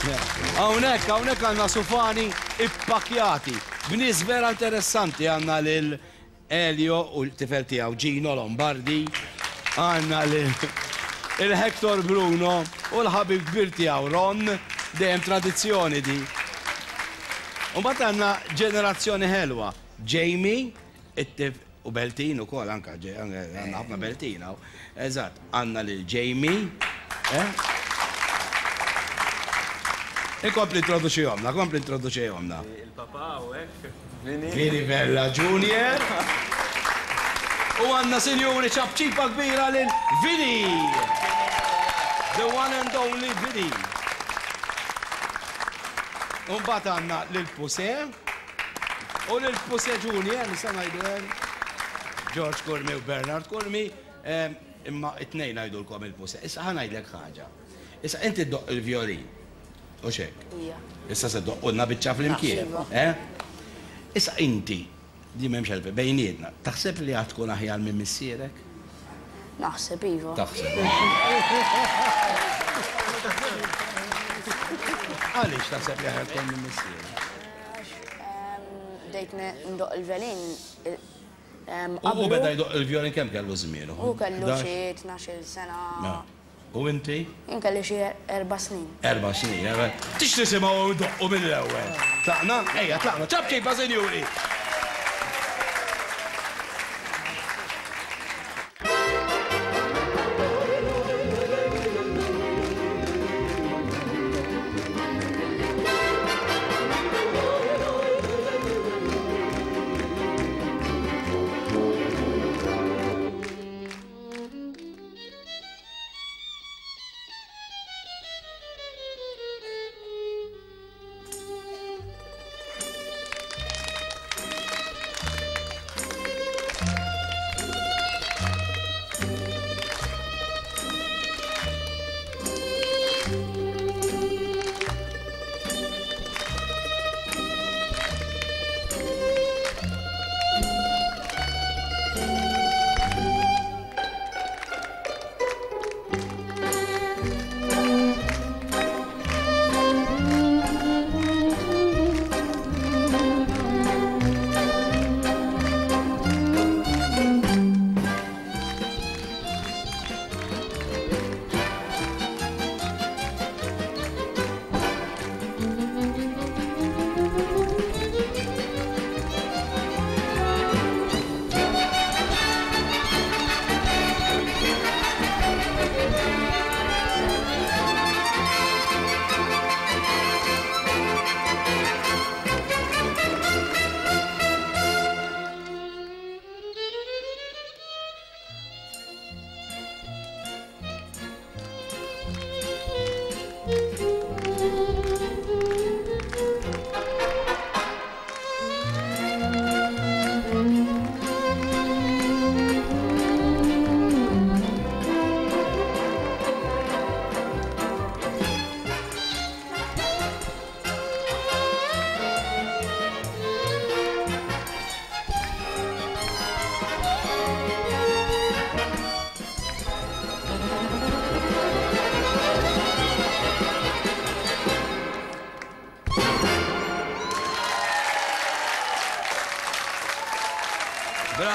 Hawnhekk, hawnhekk għandna sufani ippakjati b'nies vera interessanti għandna lil Elio u l-tifel tiegħu Gino Lombardi, għandna lil il-Hector Bruno u l-ħabib kbir tiegħu Ron, dejjem tradizzjoni di. U mbagħad għandna ġenerazzjoni ħelwa, Jamie, it-tif u Beltin ukoll anka għandna ħafna Beltin hawn. Eżatt, għandna lil Jamie, eh? Inkompli introduċihomna, kompli introduċihomna. Il-papa hawnhekk, Vini. Vini Vella Junior. U għandna sinjuri ċapċipa kbira lil Vini! The one and only Vini. U mbagħad għandna lil Puse u lil Puse Junior, nista' ngħidu hekk. George Curmi u Bernard Curmi, imma it-tnejn ngħidulkom il-Puse. Issa ħa ngħidlek ħaġa. Issa inti ddoqq il-vjolin. Hux hekk? Ija. Issa se ddoqqulna biċċa flimkien. Iva. Eh? Issa inti, di m'hemmx għalfejn, bejnietna, taħseb li għad tkun aħjar minn missierek? Naħseb iva. Taħseb. Għaliex taħseb li aħjar tkun minn missierek? Għax bdejt ndoqq il-vjolin U beda jdoqq il-vjolin kemm kellu żmien? Hu kellu xi 12-il sena. U inti? Jien kelli xi erba' snin. Erba' snin, eh? Tix nisimgħu jdoqqu mill-ewwel. Tlaqna? Ejja, tlaqna. Ċapċipa, sinjuri!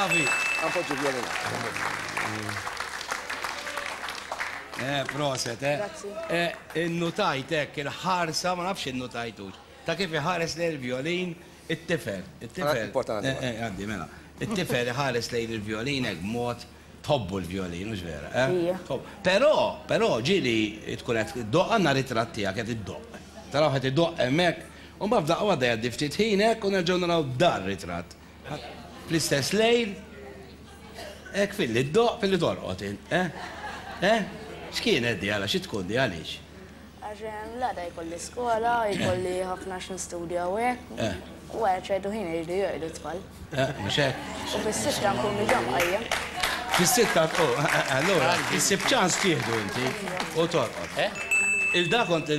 Bravi. Appoġġi vjolina. Eh, proset, eh. Grazzi. Eh, innutajt hekk il-ħarsa, ma nafx innutajtux. Ta' kif iħares lejn il-vjolin it-tifel. It-tifel. Importanti. Eh, eh, għaddi, mela. It-tifel iħares lejn il-vjolin hekk b'mod tħobbu l-vjolin, hux vera, eh? Ija. Tħobb. Però, però ġieli tkun qed iddoqq għandna ritratt tiegħek qed iddoqq. Taraw qed idoqq hemmhekk, u mbagħad f'daqqa waħda jgħaddi ftit ħin hekk u nerġgħu naraw dar ritratt. Fl-istess lejl, hekk filli ddoqq filli torqod int, eh? Eh? X'kienet di għala, xi tkun di għaliex? Għax l-għada jkolli skola, jkolli ħafna x'nistudja u hekk. Eh. U wara ċertu ħin iridu jorqdu t-tfal. Eh, mhux hekk? U fis-sitta nkun diġà mqajjem. Fis-sitta tqum, allura issib ċans tieħdu inti u torqod. Il-da kont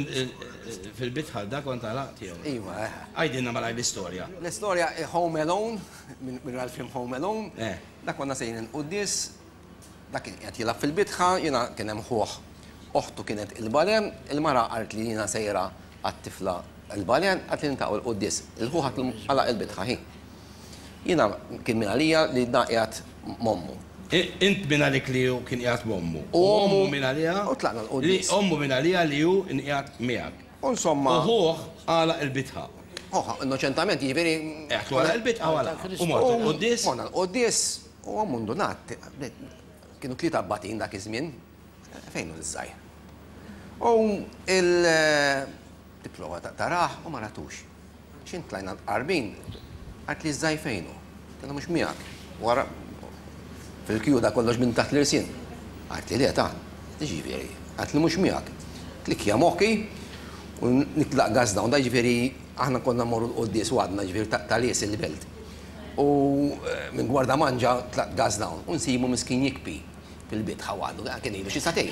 fil-bitħa da kont għalaqt jew? Iva, eh. Għidilna malajr l-istorja. L-istorja Home Alone, minn ra l-film Home Alone. Eh. Dak konna sejrin il-quddies, dak kien qiegħed jilgħab fil-bitħa, jiena kien hemm ħuh, oħtu kienet il-bare, il-mara qalt li jiena sejra Għat-tifla l-Baljan għad li niltaqgħu l-quddies. Il-ħu ħadd għalaq il-bitħa ħi. Jiena kien minn għalija li dan qiegħed m'ommu. Int minn għalik li hu kien qiegħed m'ommu. U ommu minn għaliha. U tlaqna l-quddies. Li ommu minn għaliha li hu nqiegħed miegħek. U insomma. U ħuh għalaq il-bitħa. Ħuh innoċentament jiġifieri. Qiegħed għalaq il-bitħa u għalaqha. U mortu l-quddies. Morna l-quddies u ommu ndunat. Kienu tlieta abbatin dak iż-żmien. Fejn hu l-żgħir? U il tipprova tarah u ma ratux. X'int tlajna l-qarbin, qaltli ż-żgħir fejn hu? Għedtilha mhux miegħek. Wara fil-kju da kollox minn taħt l-irsien. Qaltli le ta, jiġifieri. Qaltli mhux miegħek. Klikkja moħħi u nitlaq gas down. Da jiġifieri aħna konna mmorru l-quddies u għadna jiġifieri ta' lies il-belt. U minn Gwardamanġa tlaqt gas down u nsibu miskin jikbi. Fil-bitħa waħdu, kien ilu xi sagħtejn.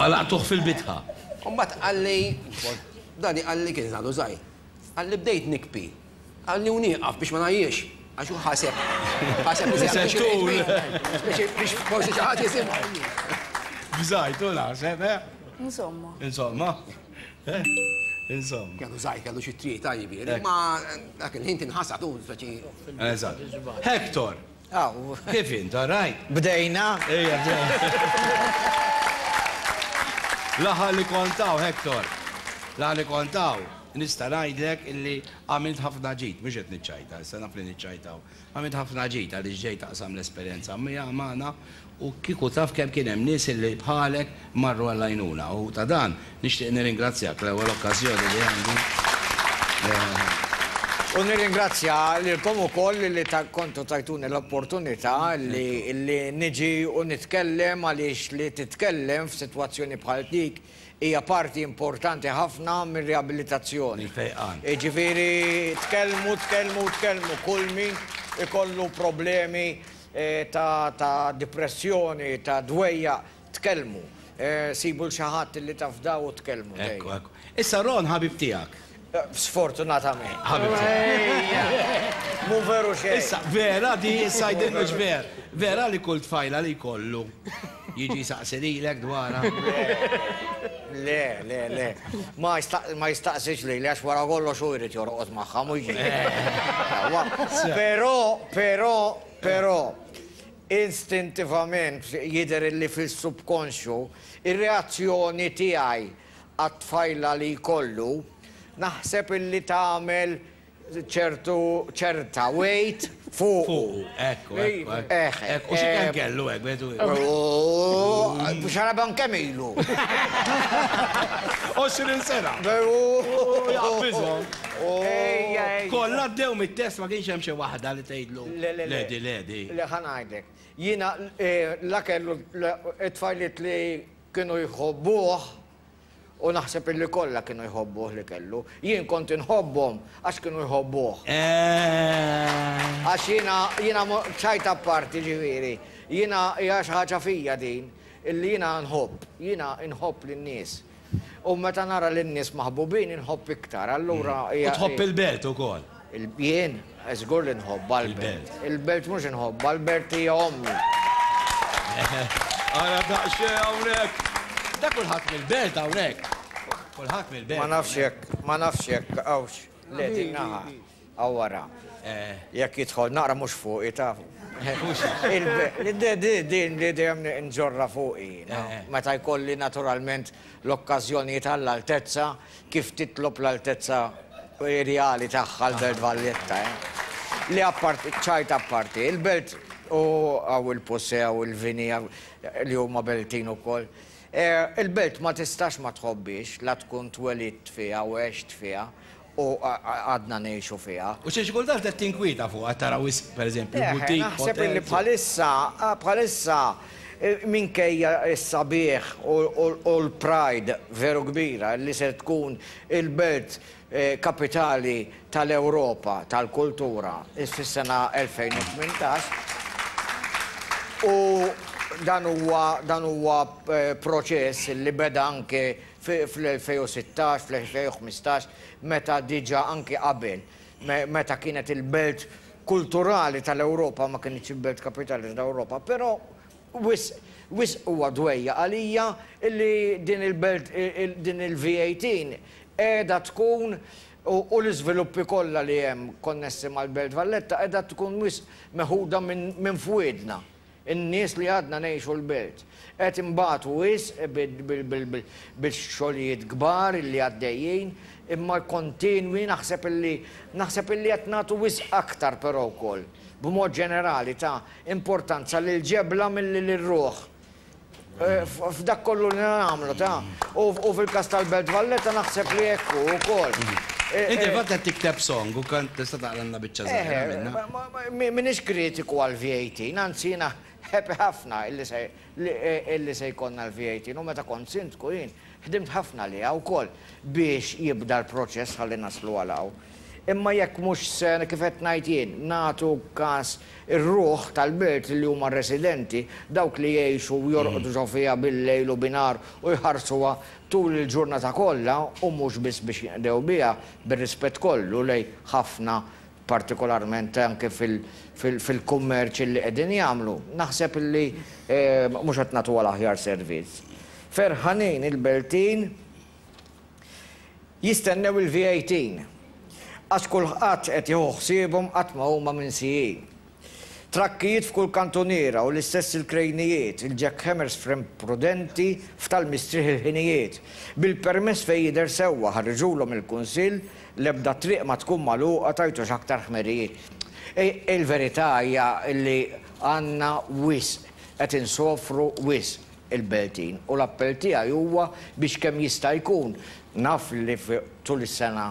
Għalaqtuh fil-bitħa. U mbagħad qalli, Dani qalli kien għadu żgħir, qalli bdejt nikbi, qalli u nieqaf biex ma ngħajjiex, għax hu ħaseb, ħaseb li se tul. Biex forsi xi ħadd jisimgħu. Bżajt u naħseb, eh? Insomma. Insomma. Eh? Insomma. Kellu żgħir, kellu xi tlieta jiġifieri, ma dak il-ħin tinħasad u speċi. Eżatt. Hector, Aw. Kif int, all right? Bdejna? Ejja, bdejna. L-aħħar li kont hawn, Hector, l-aħħar li kont hawn, nista' ngħidlek illi għamilt ħafna ġid, mhux qed niċċajta, issa naf li niċċajtaw. Għamilt ħafna ġid għaliex ġejt taqsam l-esperjenza magħna u kieku taf kemm kien hemm nies illi bħalek marru għall-għajnuna u ta' dan nixtieq nirringrazzjak l-ewwel okkażjoni li għandi. U nirringrazzja lilkom ukoll li kontu tajtuni l-opportunità li li niġi u nitkellem għaliex li titkellem f'sitwazzjoni bħal dik hija parti importanti ħafna mir-riabilitazzjoni. Il-fejqan. Jiġifieri tkellmu, tkellmu, tkellmu kull min ikollu problemi ta' dipressjoni, ta' dwejjaq, tkellmu. Sibu 'l xi ħadd li tafdaw u tkellmu dejjem. Ekku, ekku. Issa Ron ħabib tiegħek. Sfortunatament. Ħabib tiegħek. Mhu veru xejn. Issa, vera di, issa jgħidilna mhux ver. Vera li kull tfajla li jkollu jiġi jsaqsi lilek dwarha? Le, le, le. Ma jistaqsix lili għax wara kollox hu jrid jorqod magħha mhux jien. Però, però, Però, instintivament, jidher illi fis-subkonxju, ir-reazzjoni tiegħi għat-tfajla li jkollu, naħseb illi tagħmel ċertu, ċerta weight fuqu. Fuqu, ekku, ekku, ekku. Ekku, u xi kemm kellu hekk, wieħed u ieħor? Ooh, xaraban kemm ilu? 20 sena. Ooh, jaqbiżhom. Kollha għaddew mit-test ma kienx hemm xi waħda li tgħidlu le di le di. Le ħa ngħidlek. Jiena la kellu t-tfajliet li kienu jħobbuh u naħseb illi kollha kienu jħobbuh li kellu. Jien kont inħobbhom għax kienu jħobbuh. Għax jiena jiena ċajt apparti ġifieri, jiena hija xi ħaġa fija din illi jiena nħobb, jiena nħobb lin-nies. U meta nara lin-nies maħbubin inħobb iktar, allura hija. U tħobb il-belt ukoll? Jien? Żgur li nħobbha l-belt. Il-belt mhux inħobbha, l-belt hija ommi. Ara daqsxejn hawnhekk! Da kulħadd mill-belt hawnhekk. Kulħadd mill-belt. Ma nafx jekk, ma nafx jekk hawnx, le din naħa. Hawn wara. Jekk jidħol naqra mhux fuqi taf. Din li dejjem nġorrha fuqi jiena. Meta jkolli naturalment l-okkażjonijiet għall-altezza kif titlob l-altezza reali tagħha l-Belt Valletta. Li apparti, ċajt apparti, il-Belt u hawn il-Pussè, hawn il-Vini li huma Beltin ukoll. Il-Belt ma tistax ma tħobbhiex la tkun twelidt fiha u għext fiha U għadna ngħixu fiha. U xi kultant qed tinkwieta fuqha, qed tara wisq, pereżempju, boutique, hotels. Naħseb illi bħalissa, bħalissa, minkejja s-sabiħ u l-pride veru kbira li se tkun il-belt kapitali tal-Ewropa tal-kultura fis-sena 2018, u dan huwa dan huwa proċess li beda anke fl-2016, fl-2015, meta diġà anki qabel, meta kienet il-belt kulturali tal-Ewropa, ma kinitx il-belt kapitali tal-Ewropa, però wisq, wisq huwa dwejjaq għalija li din il-belt, din il-V18 qiegħda tkun u l-iżviluppi kollha li hemm konnessi mal-Belt Valletta qiegħda tkun wisq meħuda minn fwiedna, in-nies li għadna ngħixu l-Belt. Qed inbatu wisq bil-xogħlijiet kbar illi għaddejjin, imma kontinwi naħseb illi naħseb illi qed nagħtu wisq aktar però wkoll, b'mod ġenerali ta' importanza lill-ġebla milli lir-ruħ. F'dak kollu li nagħmlu ta' u fil-każ tal-Belt Valletta naħseb li hekk hu wkoll. Inti fatt qed tikteb song u kont tista' taqralna biċċa żgħira minnha. M'iniex kritiku għall-VAT, anzi jiena happy ħafna illi se illi se jkollna l-VAT u meta kont sindku jien ħdimt ħafna għaliha wkoll biex jibda l-proċess ħalli naslu għal hawn. Imma jekk mhux se, kif qed ngħid jien, nagħtu kas ir-ruħ tal-belt li huma r-residenti, dawk li jgħixu u jorqdu ġo fiha bil-lejl u binhar u jħarsuha tul il-ġurnata kollha u mhux biss biex jinqdew biha, bir-rispett kollu lejn ħafna partikolarment anke fil-kummerċ illi qegħdin jagħmlu, naħseb illi mhux qed nagħtuha l-aħjar servizz. Ferħanin il-Beltin Jistennew il-V18. Għax kulħadd qed jieħu ħsiebhom qatt ma huma minsijin. Trakkijiet f'kull kantuniera u l-istess il-krejnijiet, il-jackhammers frem prudenti f'tal-mistrieħ il-ħinijiet. Bil-permess fejn jidher sewwa ħarġulhom il-Kunsill, l-ebda triq ma tkun magħluqa tgħidux aktar ħmerijiet. Il-verità hija li għandna wisq, qed insofru wisq. il-Beltin u l-appell tiegħi huwa biex kemm jista' jkun, naf li tul is-sena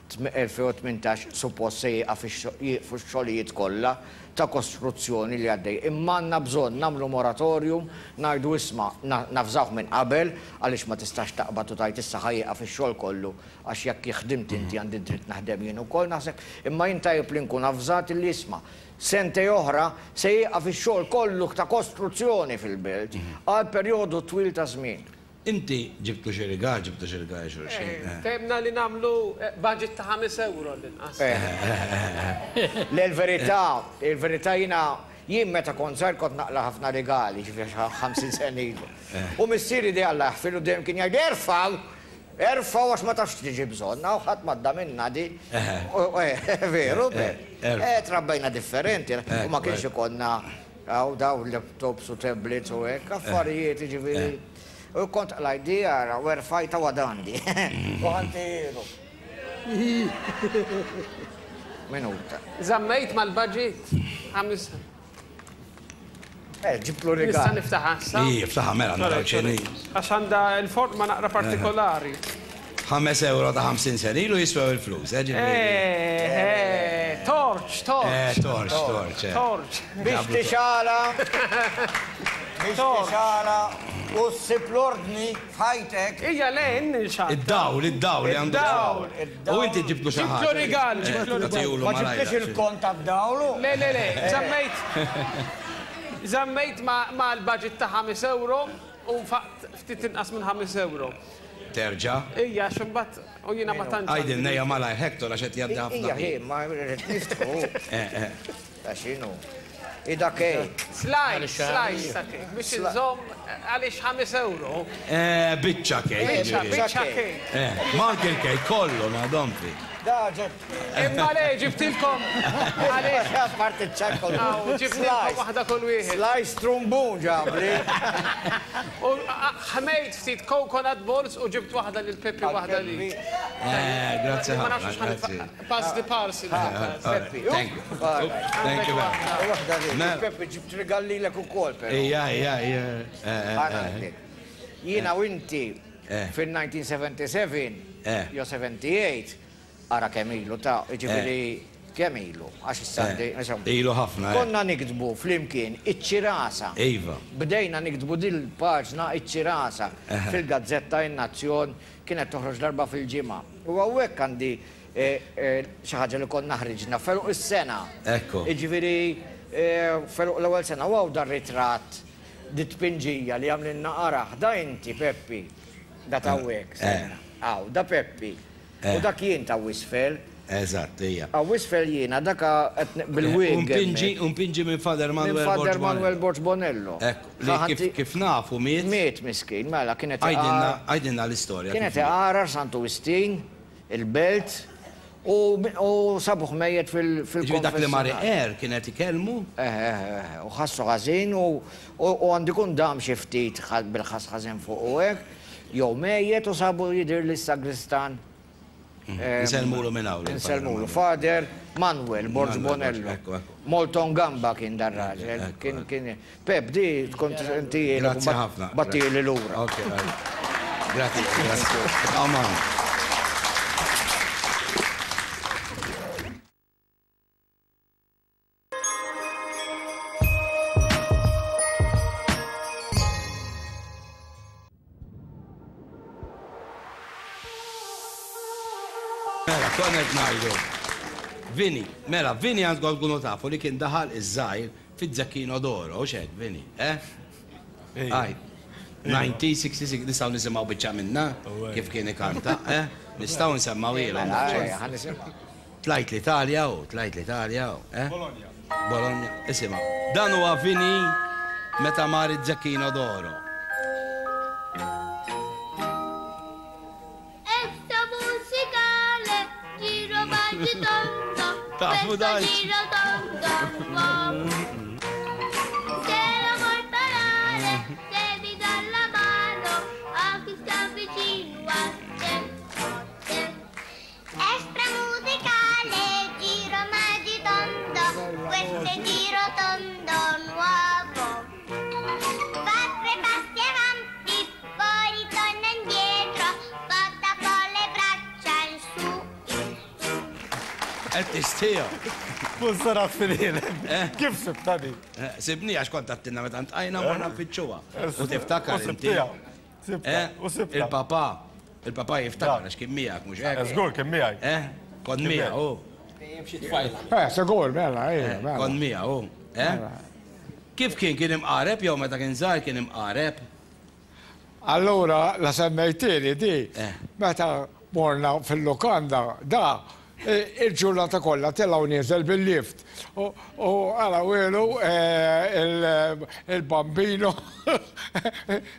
2018 suppost se jieqaf jieqfu x-xogħlijiet kollha ta' kostruzzjoni li għaddej, imma għandna bżonn nagħmlu moratorium, ngħidu isma' navżawh minn qabel għaliex ma tistax taqbad u tgħid issa ħa jieqaf ix-xogħol kollu għax jekk ħdimt inti għandi dritt naħdem jien ukoll naħseb, imma jien tajjeb li nkun avżat illi isma' Sentej oħra se jieqaf ix-xogħol kollu ta' kostruzzjoni fil-belt għal perjodu twil ta' żmien. Inti ġibtlu xi rigal, ġibtu xi rigal lil xulxin? Ftehimna li nagħmlu budget ta' ħames ewro l-inqas. Le l-verità, il-verità jiena, jien meta kont żgħir kont naqla' ħafna rigali, ġifieri xi 50 sena ilu. U missieri di Alla jaħfirlu dejjem kien jgħidli erfgħu! Erfgħu għax ma tafx x'tiġi bżonn, hawn ħadd m'għadda minnha di. Veru, eh, trabbejna differenti, u ma kienx ikollna hawn dawn laptops u tablets u hekk, affarijiet jiġifieri. U kont qlajt di ara u erfajtha u għadha għandi. U ħantihielu. Minuta. Żammejt mal-budget? Eh, ġibtlu rigal. Nista' niftaħha issa? Ij, iftaħha mela naraw x'inhi. Għax għandha l-forma naqra partikolari. 5 ewro ta' 50 sena ilu jiswew il-flus, eh, ġifieri. Eh, eh, torch, torch. Eh, torch, torch. Eh. Torch. Biex tixala. Biex tixala u ssib l-ordni f'ħajtek. Ija le, inni nxala. Id-dawl, id-dawl li għandu. Id-dawl. U inti ġibtlu xi ħaġa. Ġibtlu rigal, ġibtlu rigal. Ma ġibtlix il-kont tad-dawl u. Le, le, le, żammejt. Żammejt mal-budget ta' 5 ewro u nfaqt ftit inqas minn 5 ewro. Terġa'? Ija, għax imbagħad u jiena ma tantx. Għidilna ejja malajr Hector għax qed jgħaddi ħafna Ija, ħin. hi, ma rrid niftħu. Ta' x'inhu? Hi da cake. Slice, slice ta' cake biex inżomm għaliex 5 ewro. Eh, biċċa cake. Biċċa, biċċa cake. Eh, ma anke l-cake kollu ngħadhom fi. Da ġeb. Imma le, ġibtilkom għaliex. Apparti ċ-ċakkol. Ġibtilkom waħda kull wieħed. Slice trumbun ġabli. U ħmejt ftit coconut balls u ġibt waħda lil Peppi waħda li. Eh, grazzi ħafna. Grazzi. Pass the parcel. Peppi. Thank you. Thank you very much. Waħda li. Peppi ġibt rigal lilek ukoll però. Ija, ija, ija. Jiena u inti fil-1977 jew 78 ara kemm ilu ta' jiġifieri kemm ilu għax issa għandi insomma. Ilu ħafna. Konna niktbu flimkien iċ-Ċirasa. Iva. Bdejna niktbu dil-paġna iċ-Ċirasa fil-gazzetta In-Nazzjon kienet toħroġ darba fil-ġimgħa. U hawnhekk għandi xi ħaġa li konna ħriġna f'għeluq is-sena. Ekku. Jiġifieri f'għeluq l-ewwel sena u hawn dar-ritratt, dit-tpinġija li għamlilna araħ, da inti Peppi, da t'hawnhekk, stenna. Hawn, da Peppi. U dak jien ta' isfel. Eżatt, hija. Hawn isfel jiena daka qed bil-wig. U mpinġi, u mpinġi minn Father Manuel Minn Borg Father Manuel Borg Bonello. Ekku, li kif, kif nafu miet. Miet miskin, mela kien qed Għidilna, għidilna l-istorja. Kien qed iqarar Santu Wistin, il-Belt, u, u sabuh mejjet fil, Jiġifieri dak li mar iqerr kien qed ikellmu? Eħe, eħe, eħe, u ħassu ħażin u, u, u għandu jkun dam xi ftit bil-ħass ħażin fuqu hekk, jew mejjet u sabu jidhirli s-sagristan. Insellmulu minn hawn. Insellmulu. Father Manuel Borg Bonello. Molton Gamba kien dar raġel. Kien kien Pep di tkun inti Grazzi ħafna. Battili lura. Ok, Grazzi, grazzi. Aman. Mela, konna qed ngħidu. Vini, mela, Vini għandkom tkunu tafu li kien daħal iż-żgħir fiz-Zecchino d'Oro, hux hekk, Vini, eh? Għaj, 1966, nistgħu nisimgħu biċċa minnha kif kien ikanta, eh? Nistgħu nsemmgħuhielhom. Mela, Tlajt l-Italja u, tlajt l-Italja u, eh? Bologna. Bologna, isimgħu. Dan huwa Vini meta mar iż-Zecchino d'Oro. Extra musicale, giro baci tondo, Tafu questo dan? giro tondo nuovo. Se la vuoi parare, devi dar la mano a chi sta vicino a te. te. Extra musicale, giro magitondo, questo è giro tondo nuovo. Fa tre passi avanti, poi ritorna indietro, porta con le braccia in su, in su. Qed tistieha. Kun saraf fil-ħin. Kif sibtha di? Sibni għax kont għattilna meta ntqajna morna nfittxuha. U tiftakar inti. Sibtha. U sibtha. Il-papà, il-papà jiftakar għax kien miegħek mhux hekk? Żgur kien miegħi. Eh? Kont miegħu. Eh, sigur, mela, ejja, mela. Kont miegħu. Eh? Kif kien kien imqareb jew meta kien żgħir kien imqareb? Allura, la semmejtieli di, Eh. meta morna fil-lukanda, da, il-ġurnata kollha telgħu nieżel bil-lift. U għala wielu il-bambino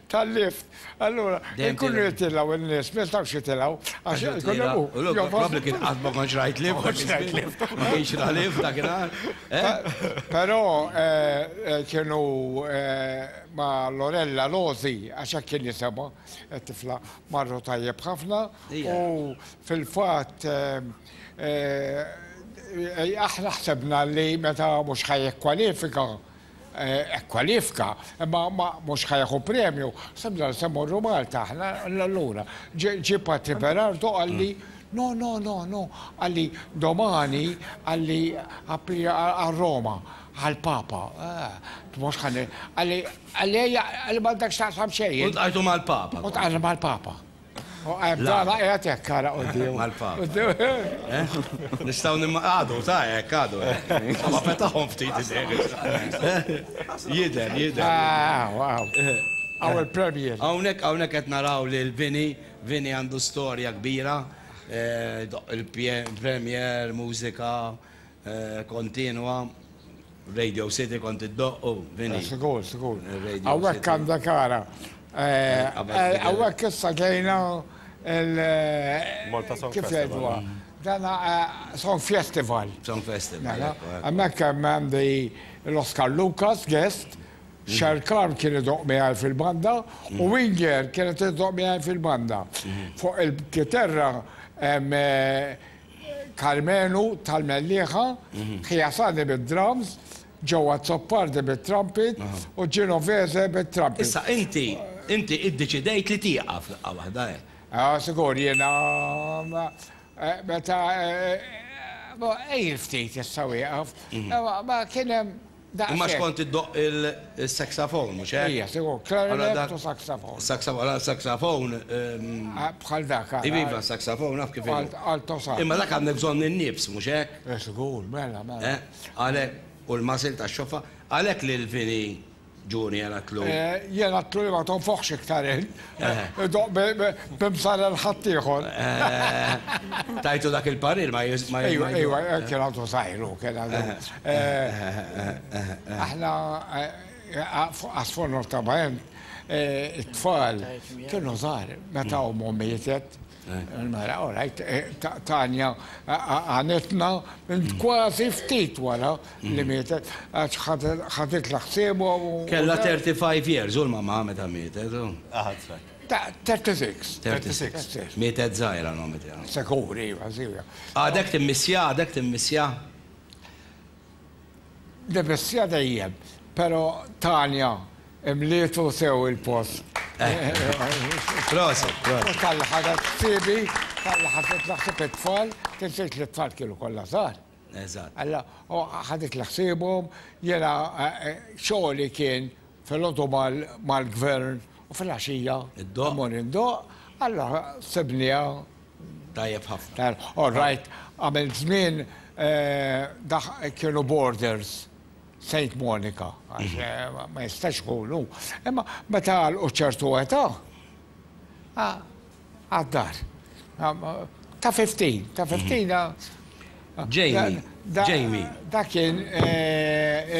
tal-lift. Allura, ikunu jitilgħu n-nies, ma jistgħux jitilgħu għax ikun hemm hu. Probabbli kien qatt ma kontx rajt lift. Ma kontx rajt lift. Ma kienx ra lift dakinhar. Però kienu ma' Lorella Losi, għax hekk kien jisimha, it-tifla, marru tajjeb ħafna u fil-fatt aħna ħsebna li meta mhux ħa jikkwalifika, kkwalifika, imma mhux ħa jieħu premju, ħsebna li se mmorru Malta aħna allura. Ġie Patri Berardo qalli, no, no, no, no, qalli domani, qalli għal Roma, għall-Papa. Mhux ħa, qalli, qalli ejja, qalli m'għandek x'taqsam xejn. U ltqajtu mal-Papa. U ltqajna mal-Papa. Dana qiegħed hekk ara quddiem. Mal-Papa. Nistgħu nimma għadu ta' hekk għadu. Ma fetaħhom ftit idejh. Jidher, jidher. Hawn il-premier. Hawnhekk hawnhekk qed naraw lil Vini, Vini għandu storja kbira, il-premier, mużika kontinwa. Radio City kont iddoqq u Vini. Sigur, sigur. Hawnhekk għandek ara. Hawnhekk issa ġejna il. Malta Song Kif jgħiduha? Dan Song Festival. Song Festival. Hemmhekk hemm għandi l-Oscar Lucas guest, Sherkan kien idoqq miegħi fil-banda u Winger kienet idoqq miegħi fil-banda. Fuq il-kiterra hemm Karmenu tal-Mellieħa, Ħiasani bid-drums, Joe Azzopardi bit-trumpet u Genovese bit-trumpet. Issa inti, inti iddeċidejt li tieqaf daqqa waħda hekk. Ah, sigur, jiena meta ejjel ftit issa wieqaf, ma kien hemm Imma x'kont iddoqq il-saxophone, mhux hekk? Ija, sigur, clarinet u saxophone. Saxophone, saxophone. Bħal dak. Iva, saxophone, naf kif. Alto sax. Imma dak għandek bżonn in-nifs, mhux hekk? Sigur, mela, mela. Għalhekk, u l-muscle tax-xoffa, għalhekk lil Vini Junior għatlu. Jien għatlu li ma tonfoħx iktar int. Idoqq b'imsar ħaddieħor. Tajtu dak il-parir ma Ejwa, ejwa, kien għadu żgħir hu, kien għadu. Aħna sfortunatament it-tfal kienu żgħar meta ommhom mietet. Mela, all right, Tanja għanetna minn kważi ftit wara li mietet, għax ħadet l-ħsiebu. Kellha 35 years u l-mamma meta mietet. 36. 36. Mietet żgħira l-mamma tiegħu. Sekuri, iva, żgħira. Għadek timmissja, għadek timmissja? Nimissja dejjem, pero Tanja imlietu sew il-post. Proset, proset. U talli ħadet ħsiebi, talli ħaditli ħsieb it-tfal, tinsiex li t-tfal kienu kollha żgħar. Eżatt. Alla, u ħaditli ħsiebhom, jiena xogħli kien filgħodu mal-gvern u filgħaxija mmur indoqq, allura sibniha Tajjeb ħafna. All right, għamilt żmien kienu borders Saint Monica, għax ma jistax ikunu. Imma meta għalqu ċertu età, għad-dar. Ta' 15, ta' 15. Jamie, Jamie. Dak kien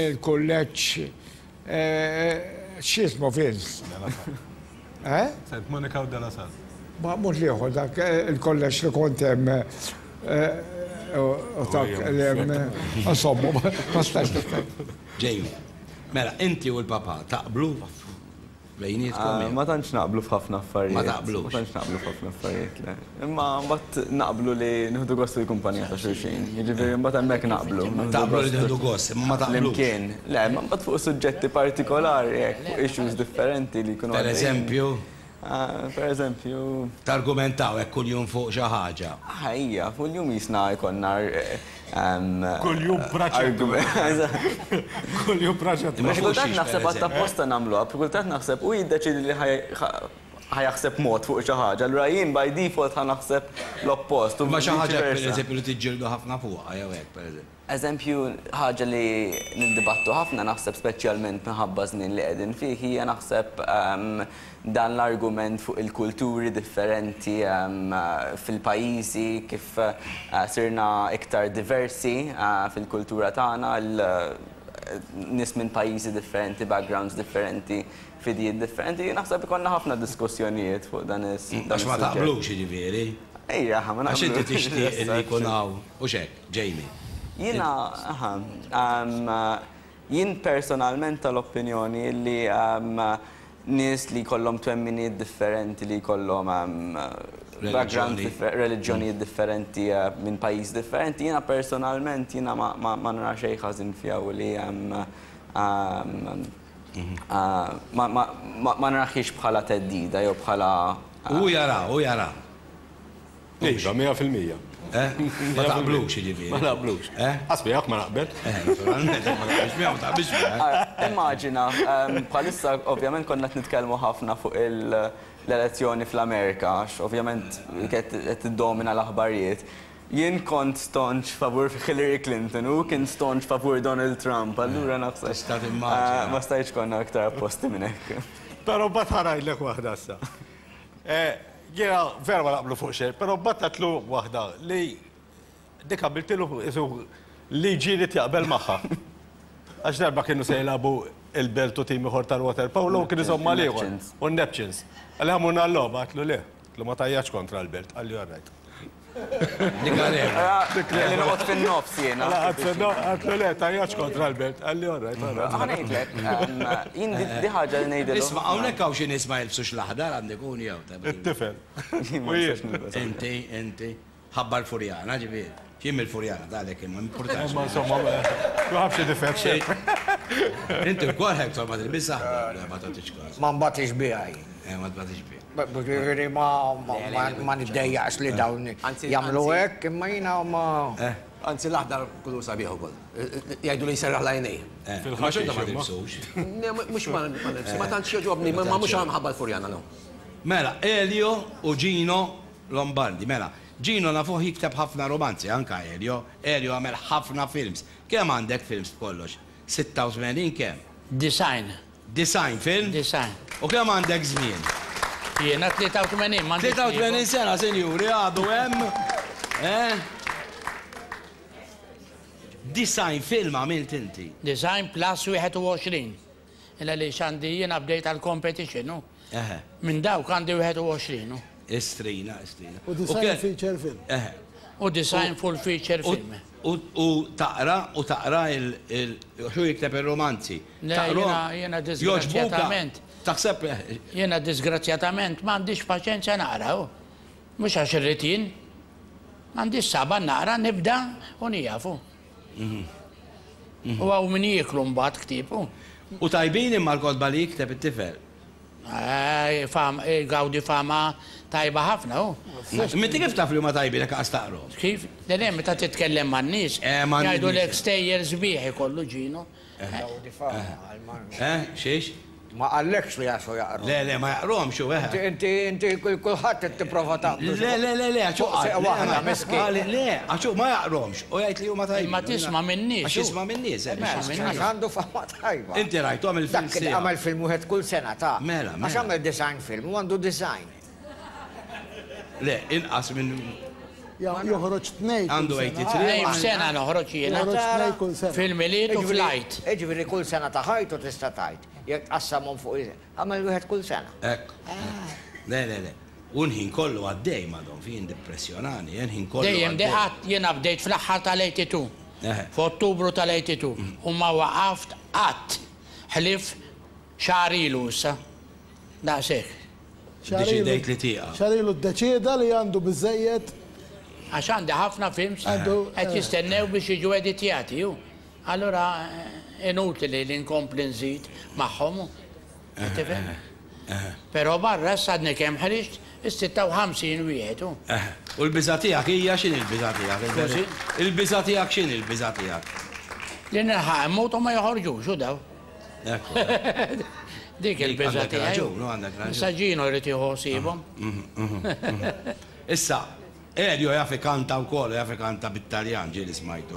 il-kulleġġ x'jismu Vince? Eh? Saint Monica u De La Salle. Ma mhux l-ieħor dak il-kolleġġ li kont hemm u dak li hemm insomma ma stax niftakar. Jamie, mela inti u l-papà taqblu bejnietkom? Ma tantx naqblu f'ħafna affarijiet. Ma taqblux? Ma tantx naqblu f'ħafna affarijiet, le. Imma mbagħad naqblu li nieħdu gost il-kumpanija ta' xulxin. Jiġifieri mbagħad hemmhekk naqblu. Taqblu li tieħdu gost, imma ma taqblux. Flimkien. Le, imma mbagħad fuq suġġetti partikolari hekk, fuq issues differenti li jkunu Per eżempju? Per eżempju. Targumentaw hekk kuljum fuq xi ħaġa. Ejja, kuljum jisna jkollna. Kuljum praċettu. Kuljum praċettu. Xi kultant naħseb għad apposta nagħmluha, kultant naħseb u jiddeċiedi li ħa jaħseb mod fuq xi ħaġa, allura jien by default ħa naħseb l-oppost. Imma xi ħaġa pereżempju li tiġġieldu ħafna fuqha jew hekk pereżempju. Eżempju, ħaġa li niddibattu ħafna naħseb speċjalment minħabba żmien li qegħdin fih hija naħseb dan l-argument fuq il-kulturi differenti fil-pajjiżi kif sirna iktar diversi fil-kultura tagħna, nies minn pajjiżi differenti, backgrounds differenti, fidijiet differenti, naħseb ikollna ħafna diskussjonijiet fuq dan is-suġġett. Għax ma taqblux jiġifieri. Ejja, ma naqblux. Għax inti tixtieq li jkun hawn, hux hekk, Jamie? Jiena, aha, jien personalment tal-opinjoni li nies li jkollhom twemminiet differenti, li jkollhom backgrounds, reliġjonijiet differenti minn pajjiż differenti, jiena personalment jiena ma nara xejn ħażin fiha u li Ma naraħiex bħala theddida jew bħala. Hu jara, hu jara. Iva, 100%. Eh? Ma taqblux jiġifieri. Ma naqblux. Eh? Qas miegħek ma naqbel. Eh, naturalment, ma taqbilx miegħu, ma taqbilx miegħek. Immaġina, bħalissa ovvjament konna qed nitkellmu ħafna fuq l-elezzjoni fl-Amerika, għax ovvjament qed tiddomina l-aħbarijiet. Jien kont staunch favur Hillary Clinton u hu kien staunch favur Donald Trump, allura naħseb. Tista' timmaġina. Ma stajtx konna iktar opposti minn hekk. Però mbagħad ħa ngħidlek waħda issa. Jiena vera ma naqblu fuq xejn, però mbagħad għedtlu waħda li dik għamiltilu qisu liġi jrid jaqbel magħha. Għax darba kienu se jilagħbu il-Belt u tim ieħor tal-waterpolo u kien iżomm mal-ieħor. U n-Neptunes. Qalli ħa mmur nagħal-logħba, għedtlu le. Għedtlu ma tgħajjatx kontra l-Belt. Qalli all right. Dik għalek. Li noqgħod fin-nofs jiena. Għatlu le, tajjax kontra l-belt. Għalli all right, all right. Ħa ngħidlek, jien di ħaġa li ngħidilhom. Isma' hawnhekk hawn xi nies ma jilbsux l-aħdar għandek un jew. It-tifel. Inti, inti. Ħabba l-Furjana, ġifieri. Jien mill-Furjana, dalek imma importanti. Imma insomma, ma ħabx difett. Inti wkoll Hector ma tilbis aħdar, ma tagħtix każ. Ma nbatix biha jien. Eh, ma tbatix biha. Ġifieri ma niddejjaqx li dawn jagħmlu hekk, imma jiena ma. Eh. Anzi l-aħdar kulur sabiħ ukoll. Jgħidu li jserraħ l-għajnejn. Eh, ma xorta ma tilbsux. Mhux ma nilbsu, ma tantx jogħġobni, ma mhux minħabba l-Furjana, no. Mela, Elio u Gino Lombardi, mela, Gino nafuh jikteb ħafna romanzi, anka Elio. Elio għamel ħafna films. Kemm għandek films b'kollox? 86 kemm? 90. 90 film? 90. U kemm għandek żmien? Jiena 83 m'għandix. 83 sena, sinjuri, għadu hemm. Eh? 90 film għamilt inti. 90 plus 21. Illa li għandi jiena bdejt għal-competition, u. Minn dawk għandi 21. u. Istrina, istrina. U 90 feature film. Eħe. U 90 full feature film. U taqra, u taqra il xu jikteb il-romanzi. Le, jiena disgrazzjatament. Taħseb. Jiena disgrazzjatament m'għandix paċenzja naqra. u. Mhux għax irrid jien. M'għandix saba naqra, nibda u nieqaf. U hawn min jieklu mbagħad ktieb. u. U tajbin imma l-kotba li jikteb it-tifel. Fam, gawdi fama tajba ħafna, u. Minti kif taf li huma tajbin jekk qas taqrahom? Kif? Le, le, meta titkellem man-nies, man-nies. jgħidulek stejjer sbieħ ikollu Ġino. Gawdi fama, għal-man. Eh, xiex? Ma qallekx li għaxu jaqru. Le, le, ma jaqruhomx u eħe. Inti, inti, kulħadd qed tipprova taqbdu. Le, le, le, le, għaxu Fuq seq waħda, miskin. Le, għaxu ma jaqromx. U jgħid li huma tajbin. Imma tisma' min-nies, Għax jisma' min-nies, eh, Mela, biex Għax għandu fama tajba. Inti rajthom il-film Dak sieħ. għamel film wieħed kull sena ta' Mela, mela. Għax għamel design film u għandu design. Le, inqas minn Joħroġ tnej. kull Għandu sena. 83. Tnejn f'sena noħroġ jiena. Joħroġ tnej kull sena. Fil-Milied u fl-Għid. Jiġifieri kull sena ta' ħajtu tista' tgħid. Jekk tqassamhom fuq għamel wieħed kull sena. Ekku. Le, le, le. U l-ħin kollu għaddej madon, fin depressjonani, l-ħin kollu. Dejjem għaddej. deqat jiena bdejt fl-aħħar tal-82. Eħe. F'Ottubru tal-82. U ma waqaft qatt. Ħlief xahar ilu issa. Daqshekk. Deċidejt li tieqaf. Xahar ilu ddeċieda li għandu biżejjed. Għax għandi ħafna films Għandu, qed jistennew biex jiġu editjati. u. Allura inutili li nkompli nżid magħhom. Tifhem? Però barra issa għadni kemm ħriġt is-56 wieħed. u. Eħe. U l-biża' tiegħek hija x'inhi l-biża' tiegħek? Scusi? Il-biża' tiegħek x'inhi l-biża' tiegħek? Li nilħaq immut u ma joħorġux u daw. Ekku. Dik il-biża' Għandek tiegħi. raġun, no, għandek raġun. Issa Ġino jrid jieħu ħsiebhom. Issa, Elio jaf ikanta wkoll, jaf ikanta bit-Taljan, ġieli smajtu.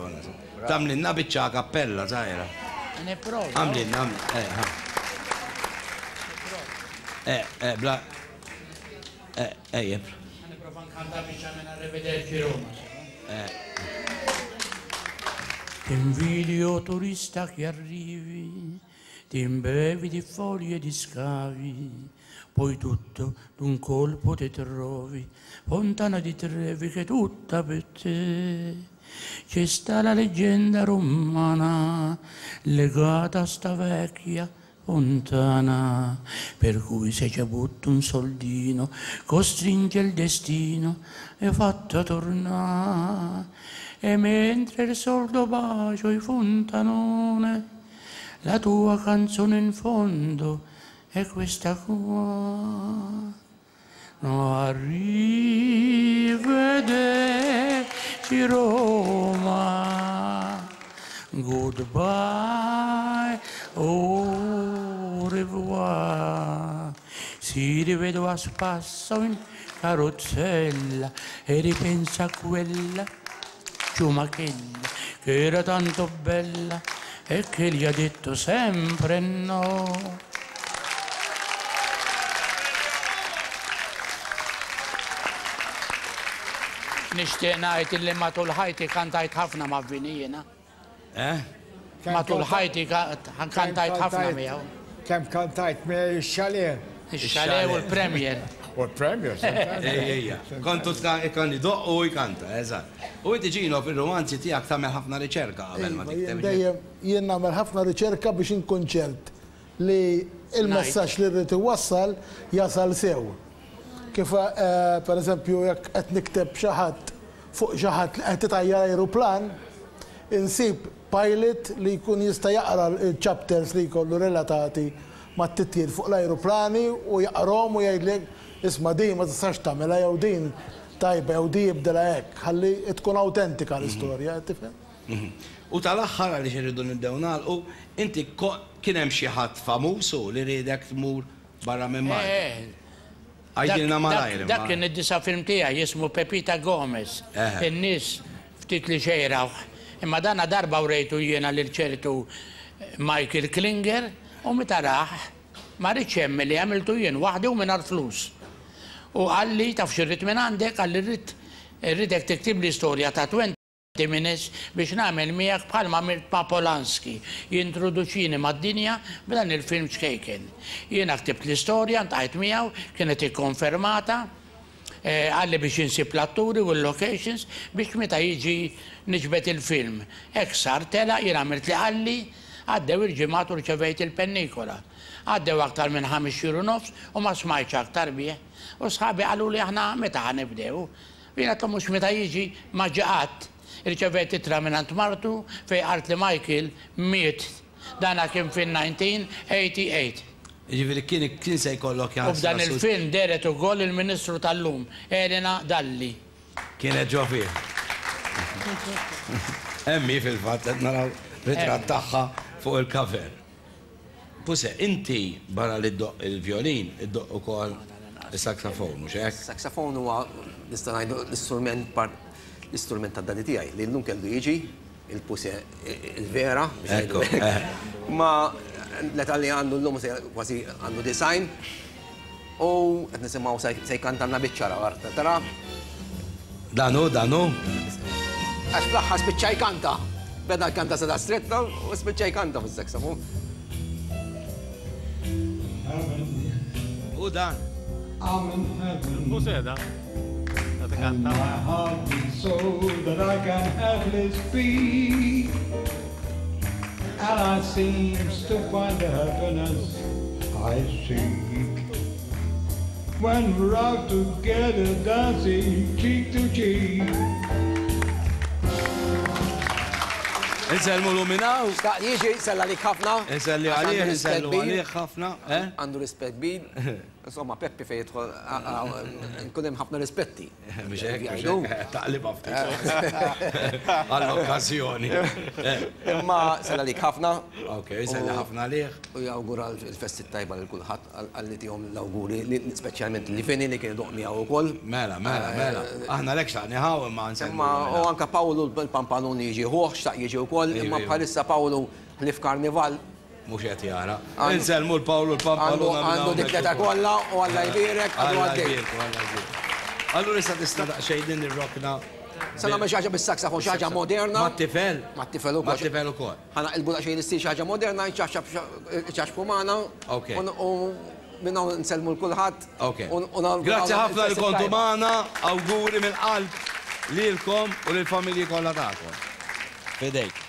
Tagħmlilna biċċa kappella żgħira. Nipprova. Għamlilna, għamlilna, eh, ha. Eh, eh, bla. Eh, ejjeb. Nipprova nkanta biċċa minn Arrivederci Roma. Eh. Ti invidio turista che arrivi, ti imbevi di foglie di scavi, poi tutto d'un colpo ti trovi, fontana di Trevi che è tutta per te. C'è sta la leggenda romana legata a sta vecchia fontana, per cui se ci butto un soldino, costringe il destino e fatta tornare. E mentre il soldo bacio il fontanone, la tua canzone in fondo è questa qua. No, arrivederci Roma, goodbye, au revoir. Si rivedo a spasso in carrozzella e ripensa a quella ciumachella che era tanto bella e che gli ha detto sempre no. Nixtieq ngħid illi matul ħajti kantajt ħafna ma' Vini jiena. Eh? Matul ħajti kantajt ħafna miegħu. Kemm kantajt miegħi ix-xalet. Ix-xalet u l-Premier. U l-Premier, Ejja, ejja. Kontu kan idoq u jkanta, eżatt. U inti Ġino fil-romanzi tiegħek tagħmel ħafna riċerka qabel ma Iva, jien tikteb. dejjem jien nagħmel ħafna riċerka biex inkun ċert li il-messaġġ li rrid iwassal jasal sew. Kif per eżempju jekk qed nikteb xi ħadd fuq xi ħadd li qed itajjar ajruplan, insib pilot li jkun jista' jaqra l-chapters li jkollu relatati mat-titjir fuq l-ajruplani u jaqrom u jgħidlek isma' din ma tistax tagħmilha jew din tajba jew din jibdilha hekk, ħalli tkun awtentika l-istorja, tifhem? U tal-aħħar għaliex irridu nibdew nagħlqu, inti kien hemm xi ħadd famuż u li riedek tmur barra minn Malta. Għajdilna malajr, Dak imma. kien id-disa' film tiegħi jismu Pepita Gomez. In-nies ftit li xejraw. Imma dana darba urejtu jiena lil ċertu Michael Klinger U meta rah, ma riedx jemmen li għamiltu jien waħdi u mingħajr flus. U qalli, taf x'irrid mingħandek? Qalli rrid irridek tiktibli storja ta' 20 minutes biex nagħmel miegħek bħalma għamilt ma' Polanski, jintroduċini mad-dinja b'dan il-film ċkejken. Jiena ktibt l-istorja, ltqajt miegħu, kienet ikkonfermata, Qalli biex insib l-atturi u l-locations biex meta jiġi niġbed il-film. Hekk sar, telaq, jien għamilt li qalli, għaddew il-ġimgħat u rċevejt il-pennikola. Għaddew aktar minn ħames xhur u nofs u ma smajtx aktar bih. U sħabi qaluli aħna meta ħa nibdew? U jien għedtlhom mhux meta jiġi, ma ġie qatt. Irċevejt ittra mingħand martu fejn qaltli Michael miet. Dana kien fin-1988. Jiġifieri kien kien se jkollok U f'dan il-film dehret ukoll il-Ministru tal-lum, Elena Dalli. Kienet ġo fih. Hemm hi fil-fatt qed naraw ritratt tagħha fuq il-cover. Puse, inti barra li ddoqq il-vjolin, iddoqq ukoll is-saxophone, mhux hekk? Is-saxophone huwa nista' ngħidu l-istrument l-istrument tad-daddy tiegħi li llum kellu jiġi il-puse il-vera, biex ngħidu hekk. Ma l-età li għandu llum kważi għandu design. U qed nisimgħu se jkantanna biċċa ra, tara. Dan hu, dan hu. Għax fl-aħħar spiċċa jkanta. Beda jkanta sa stretta u spiċċa jkanta fis-saxophone. U dan. Il-puse da. And my heart beats so that I can hardly speak. And I seems to find the happiness I seek. When we're out together dancing cheek to cheek. Insellmu l minn hawn. Xtaq jiġi, sellem għalik ħafna. Inselli Għax għalih, għandu rispett insellu kbir. għalih ħafna. eh? Għandu rispett kbir. Insomma, Peppi fej jidħol, nkun hemm ħafna rispetti. Mhux hekk, mhux Jgħidu. hekk, taqliba ftit. Għall-okkażjoni. Imma sellem għalik ħafna. Ok, sellem ħafna għalih. U jawgura l-festi tajba lil kulħadd għalli tihom l-awguri, speċjalment li Vini li kien idoqq miegħu wkoll. Mela, mela, mela. Aħna lek xtaqni ħaw imma nsemmu. Imma u anka Pawlu l-Pampalun jiġi ħuħ, xtaq jiġi wkoll, imma Iva, iva. bħalissa Pawlu ħlief karnival Mhux qed jara. Insellmu l-Pawlu l-Pampaluna. Għandu dik l-età kollha u Alla jbierek, għadu Alla għaddej. jbierek, Alla jbierek. Allura issa tista' daqsxejn din ir-rokna. Se nagħmel xi ħaġa bis-saxophone, xi ħaġa moderna. Mat-tifel? Mat-tifel ukoll. Mat-tifel ukoll. Ħa naqilbu daqsxejn l-istil xi ħaġa moderna, ċaxpu magħna. Ok. U minn hawn nsellmu 'l kulħadd. Ok. Grazzi ħafna li kontu magħna, awguri mill-qalb lilkom u lill-familji kollha tagħkom. Fidejk.